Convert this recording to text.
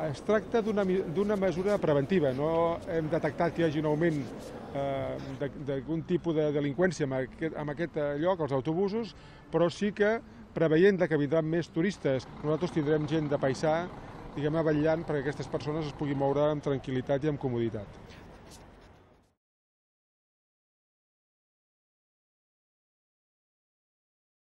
Es tracta d'una mesura preventiva. No hem detectat que hi hagi un augment d'algun tipus de delinqüència en aquest lloc, als autobusos, però sí que, preveient que vindran més turistes, nosaltres tindrem gent de paisà, diguem-ne, vetllant perquè aquestes persones es puguin moure amb tranquil·litat i amb comoditat.